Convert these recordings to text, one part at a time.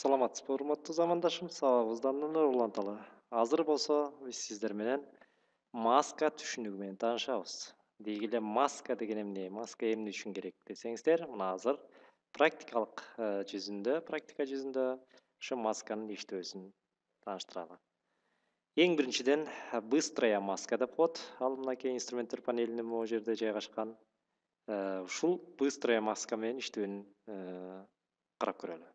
Саламатсызбы, урматтуу замандашым, сабагыбызды андан уланталы. Азыр болсо биз сиздер менен маска түшүнүгү менен таанышабыз. Деги эле маска деген эмне, маска эмне үчүн керек десеңиздер, мына азыр практика жүзүндө ошо масканын иштөөсүн тааныштыралы. Эң биринчиден быстрая маска деп коет. Ал мынакей инструменттер панелинин могу жерде жайгашкан. Ушул быстрая маска менен иштөөнүн карап көрөлү.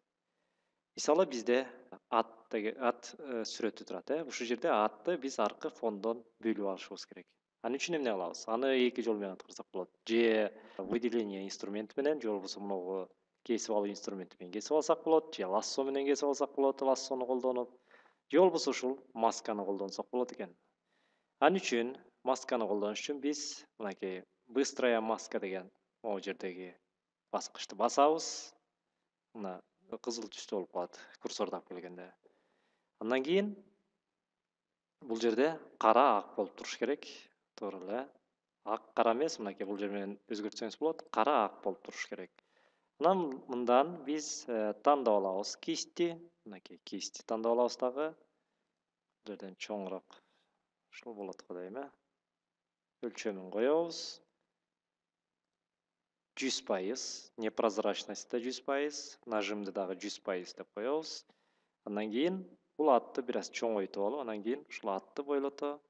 Мисалы бизде ат сүрөтү турат, Ушул жерде атты биз аркы фондон бөлүп алышыбыз керек. Ал үчүн эмне кылабыз? Аны эки жол менен аткарсак болот. Же выделение инструменти менен, же болбосо могу кесип алуу инструменти менен кесип алсак болот, же лассо менен кесип алсак болот, лассону колдонуп, же болбосо ушул масканы колдонсок болот экен. Ал үчүн масканы колдонуш үчүн биз мынакей быстрая маска деген могу жердеги баскычты басабыз. Мына кызыл түстө болуп калат курсорду алып келгенде. Андан кийин бул жерде кара ак болуп туруш керек. Туура эле. Ак кара эмес, мынакей бул жер менен өзгөртсөңүз болот. Кара ак болуп туруш керек. Анан мындан биз тандап алабыз кисти. Мынакей кисти тандап алабыз дагы. Бул жерден чоңураак ушул болот го дейм, Өлчөмүн коебуз. 100%, непрозрачность да 100%, нажимды дагы 100% деп коебуз. Андан кийин бул атты бир аз чоңойтуп алып, анан кийин ушул атты бойлото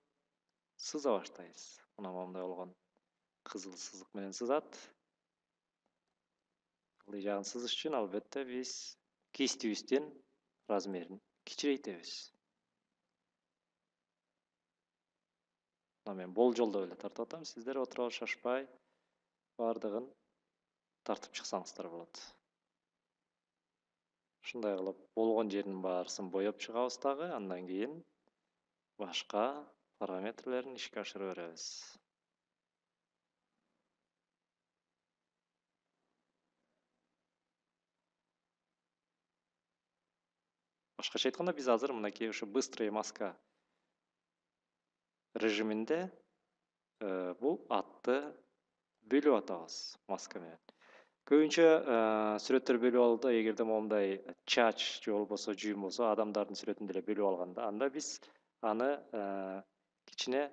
сыза баштайбыз. Мына моундай болгон кызыл сызык менен сызат. Ылдый жагын сызыш үчүн албетте биз кистибиздин размерин кичирейтебиз. Мына мен болжолдоп эле тартып атам, сиздер отуруп шашпай бардыгын тартып чыксаңыздар болот. Ушундай кылып болгон жеринин баарысын боеп чыгабыз дагы, андан кийин башка параметрлерин ишке ашыра беребиз. Башкача айтканда биз азыр мынакей ушу быстрый маска режиминде бул атты бөлүп атабыз маска менен. Көбүнчө сүрөттөр бөлүп алууда эгерде моундай чач же болбосо жүйүм болсо, адамдардын сүрөтүн деле бөлүп алганда, анда биз аны кичине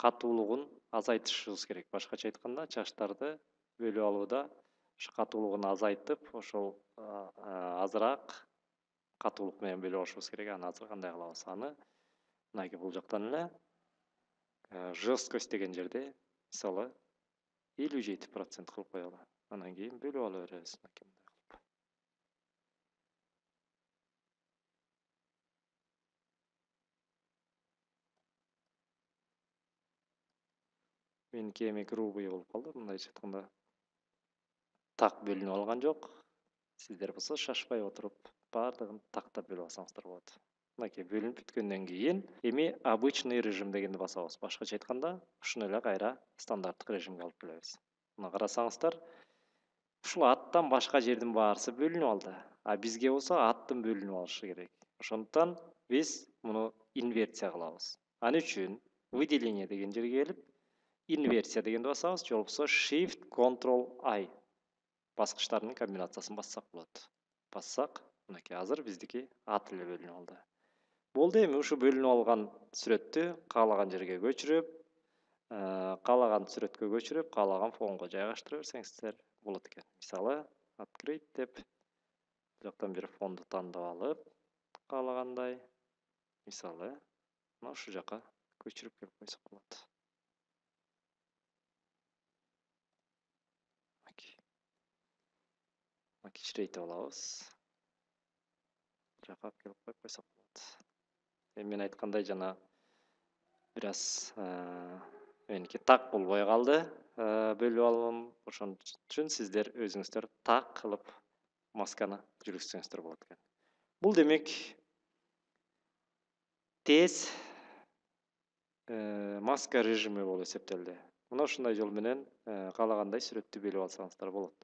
катуулугун азайтышыбыз керек. Башкача айтканда, чачтарды бөлүп алууда ушу катуулугун азайтып, ошол азыраак катуулук менен бөлүп алышыбыз керек. Аны азыр кандай кылабыз? Аны мынакей бул жактан эле жесткость деген жерде мисалы 57% кылып коелу. Анан кийин бөлүп ала беребиз. Меники эми грубый болуп калды, мындайча айтканда так бөлүнүп алган жок. Сиздер болсо шашпай отуруп бардыгын тактап бөлүп алсаңыздар болот. Мынакей бөлүнүп бүткөндөн кийин эми обычный режим дегенди басабыз. Башкача айтканда, ушуну эле кайра стандарттык режимге алып келебиз. Мына карасаңыздар, ушул аттан башка жердин баарысы бөлүнүп алды. А бизге болсо аттын бөлүнүп алышы керек. Ошондуктан биз муну инверсия кылабыз. Ал үчүн выделение деген жерге келип, инверсия дегенди басабыз, же болбосо Shift Ctrl I баскычтарынын комбинациясын бассак болот. Бассак, мынакей азыр биздики ат эле бөлүнүп алды. Болду, эми ушу бөлүнүп алган сүрөттү каалаган жерге көчүрүп, каалаган сүрөткө көчүрүп, каалаган фонго жайгаштыра берсеңиздер болот экен. Мисалы, открыть деп бул жактан бир фонду тандап алып, каалагандай, мисалы, мына ушул жака көчүрүп келип койсок болот. Кичирейтип алабыз. Жака келип коюп койсок болот. Эми мен айткандай жана бир аз меники так болбой калды. Бөлүп алуум. Ошон үчүн сиздер өзүңүздөр так кылып масканы жүргүзсөңүздөр болот экен. Бул демек тез маска режими болуп эсептелди. Мына ушундай жол менен каалагандай сүрөттү бөлүп алсаңыздар болот.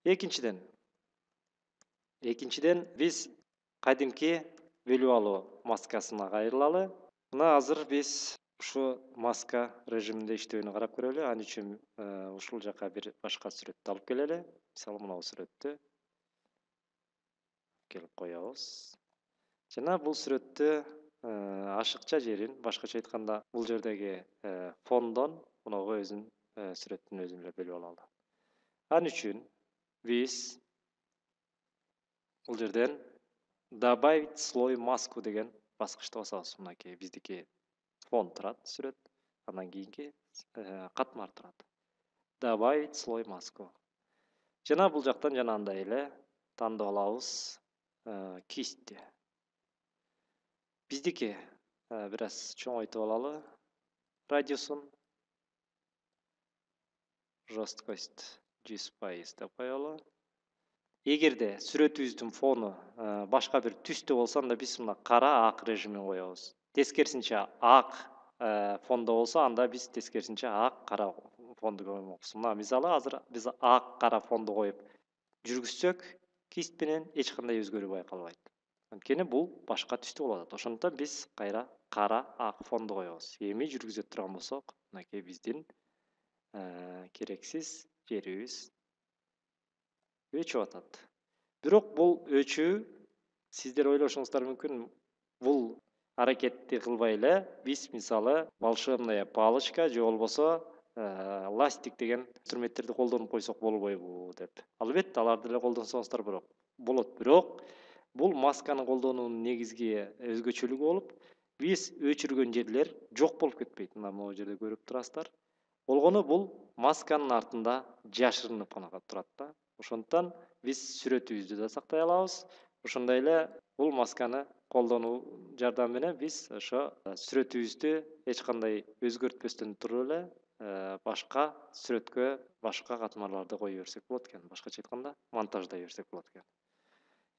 Экинчиден биз кадимки бөлүп алуу маскасына кайрылалы. Мына азыр биз ушу маска режиминде иштөөнү карап көрөлү. Ал үчүн ушул жака бир башка сүрөттү алып келели. Мисалы, мына бул сүрөттү келип коебуз. Жана бул сүрөттү ашыкча жерин, башкача айтканда, бул жердеги фондон мунуга өзүн сүрөттүн өзүн эле бөлүп алалы. Ал үчүн биз бул жерден добавить слой маску деген баскычты басабыз. Мынакей биздики фон турат сүрөт, андан кийинки катмар турат. Добавить слой маску. Жана бул жактан жанагындай эле тандап алабыз кистти. Биздики бир аз чоңойтуп алалы радиусун. Жесткость 100% деп коелу. Эгерде сүрөтүбүздүн фону башка бир түстө болсо, анда биз мына кара ак режимин коебуз. Тескерисинче ак фондо болсо, анда биз тескерисинче ак кара фонду коймокпуз. Мына мисалы азыр биз ак кара фонду коюп жүргүзсөк, кист менен эч кандай өзгөрүү байкалбайт. Анткени бул башка түстө болуп атат. Ошондуктан биз кайра кара ак фонду коебуз. Эми жүргүзө турган болсок, мынакей биздин керексиз жерибиз өчүп атат. Бирок бул өчүү сиздер ойлошуңуздар мүмкүн, бул аракетти кылбай эле биз мисалы волшебная палочка же болбосо ластик деген инструменттерди колдонуп койсок болбойбу деп. Албетте аларды деле колдонсоңуздар болот. Бирок бул масканы колдонуунун негизги өзгөчөлүгү болуп, биз өчүргөн жерлер жок болуп кетпейт. Мына могу жерде көрүп турасыздар. Болгону бул масканын артында жашырынып гана турат да. Ошондуктан биз сүрөтүбүздү да сактай алабыз. Ошондой эле бул масканы колдонуу жардамы менен биз ошо сүрөтүбүздү эч кандай өзгөртпөстөн туруп эле башка сүрөткө, башка катмарларды кое берсек болот экен. Башкача айтканда, монтаждай берсек болот экен.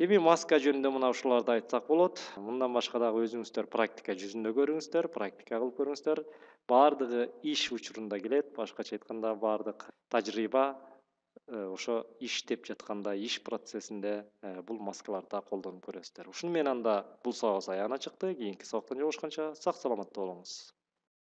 Эми маска жөнүндө мына ушуларды айтсак болот. Мындан башка дагы өзүңүздөр практика жүзүндө көрүңүздөр, практика кылып көрүңүздөр. Баардыгы иш учурунда келет. Башкача айтканда, баардык тажрыйба ошо иштеп жатканда, иш процессинде бул маскаларды колдонуп көрөсүздөр. Ушуну менен анда бул сабагыбыз аягына чыкты. Кийинки сабактан жолугушканча сак саламатта болуңуз.